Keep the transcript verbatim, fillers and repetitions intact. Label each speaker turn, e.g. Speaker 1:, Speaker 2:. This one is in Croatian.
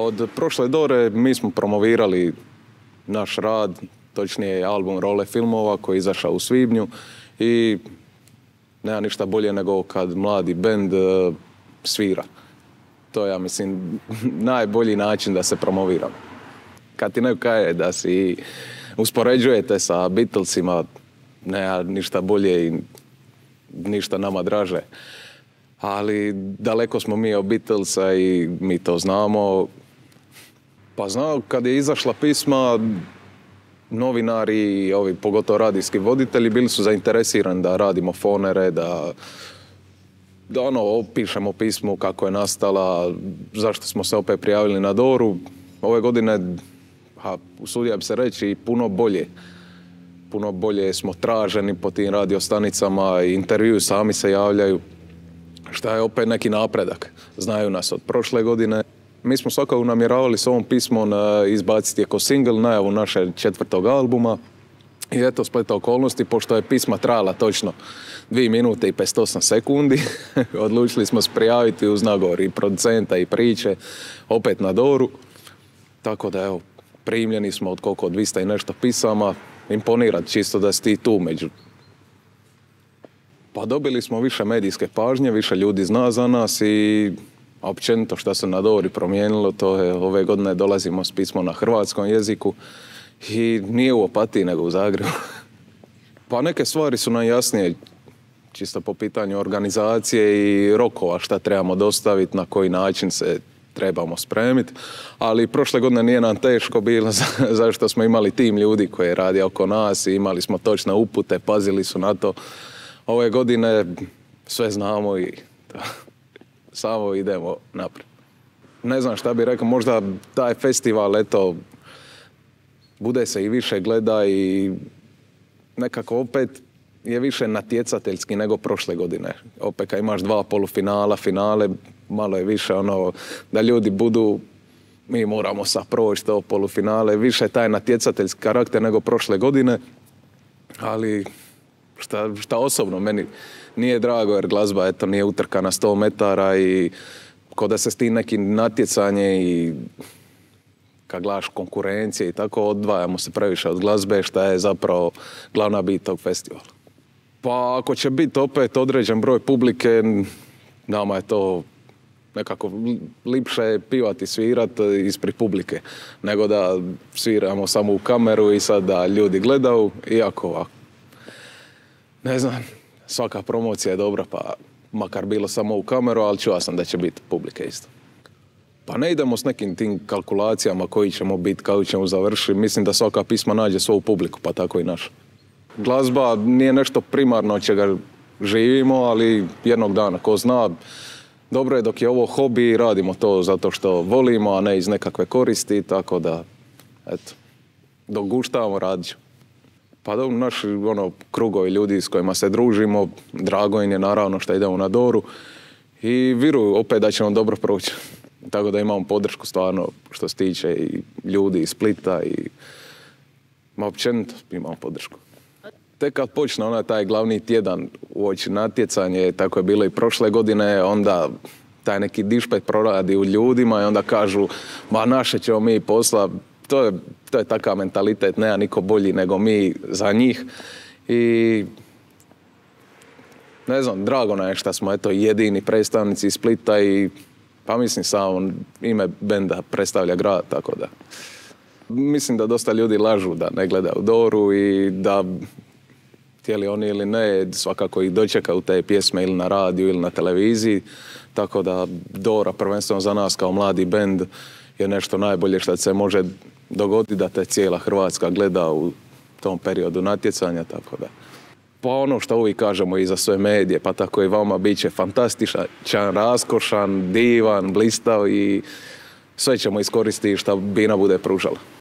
Speaker 1: Od prošle Dore mi smo promovirali naš rad, točnije album Role filmova koji je izašao u svibnju i nema ništa bolje nego kad mladi bend uh, svira. To je, ja mislim, najbolji način da se promoviramo. Kad ti neko kaže da si uspoređujete sa Beatlesima, nema ništa bolje i ništa nama draže. Ali daleko smo mi od Beatlesa i mi to znamo. Pa znao, kad je izašla pisma, novinari i ovi, pogotovo radijski voditelji, bili su zainteresirani da radimo fonere, da, da ono, opišemo pismu kako je nastala, zašto smo se opet prijavili na Doru. Ove godine, a usudio bi se reći, puno bolje. Puno bolje smo traženi po tim radiostanicama, intervju sami se javljaju, šta je opet neki napredak. Znaju nas od prošle godine. Mi smo svakako namjeravali s ovom pismom izbaciti kao single najavu našeg četvrtog albuma. I eto, spleta okolnosti, pošto je pisma trajala točno dvije minute i pedeset osam sekundi, odlučili smo se prijaviti uz nagovor i producenta i priče, opet na Doru. Tako da, evo, primljeni smo od koliko dvista i nešto pisama. Imponirat čisto da si ti tu među. Pa dobili smo više medijske pažnje, više ljudi zna za nas i općenito što se na Dori promijenilo, to je ove godine dolazimo s pismom na hrvatskom jeziku i nije u Opatiji nego u Zagrebu. Pa neke stvari su nam jasnije, čisto po pitanju organizacije i rokova šta trebamo dostaviti, na koji način se trebamo spremiti, ali prošle godine nije nam teško bilo zašto smo imali tim ljudi koji radi oko nas i imali smo točne upute, pazili su na to. Ove godine sve znamo i samo idemo naprijed. Ne znam šta bih rekao, možda taj festival, eto, bude se i više gleda i nekako opet je više natjecateljski nego prošle godine. Opet kad imaš dva polufinala, finale, malo je više ono da ljudi budu, mi moramo sad proći to polufinale, više taj natjecateljski karakter nego prošle godine, ali šta, šta osobno meni nije drago jer glazba eto nije utrka na sto metara i ko da se s tim nekim natjecanje i kad gledaš konkurencije i tako odvajamo se previše od glazbe šta je zapravo glavna bit tog festivala. Pa ako će biti opet određen broj publike, nama je to nekako lipše pivati, svirati ispred publike, nego da sviramo samo u kameru i sad da ljudi gledaju, iako ovako. Ne znam, svaka promocija je dobra, pa makar bilo samo u kameru, ali čuo sam da će biti publike isto. Pa ne idemo s nekim tim kalkulacijama koji ćemo biti, kako ćemo završiti. Mislim da svaka pisma nađe svoju publiku, pa tako i naša. Glazba nije nešto primarno od čega živimo, ali jednog dana, ko zna, dobro je dok je ovo hobi, radimo to zato što volimo, a ne iz nekakve koristi, tako da, eto, dok guštavamo, radit ćemo. Pa dobro, naši ono, krugovi ljudi s kojima se družimo, drago im je naravno što idemo na Doru i vjeruju opet da ćemo dobro proći. Tako da imamo podršku stvarno što se tiče i ljudi iz Splita i ma općenito imamo podršku. Tek kad počne onaj taj glavni tjedan uoči natjecanje, tako je bilo i prošle godine, onda taj neki dišpet proradi u ljudima i onda kažu ma naše ćemo mi posla. To je, to je takav mentalitet, nema niko bolji nego mi za njih i ne znam, drago nam je što smo eto jedini predstavnici iz Splita i pa mislim samo ime benda predstavlja grad, tako da mislim da dosta ljudi lažu da ne gledaju Doru i da htjeli oni ili ne, svakako ih dočekaju te pjesme ili na radiju ili na televiziji, tako da Dora prvenstveno za nas kao mladi bend je nešto najbolje što se može dogoditi da te cijela Hrvatska gleda u tom periodu natjecanja, tako da. Pa ono što uvijek kažemo i za sve medije, pa tako i vama, bit će fantastičan, raskošan, divan, blistav i sve ćemo iskoristiti što Bina bude pružala.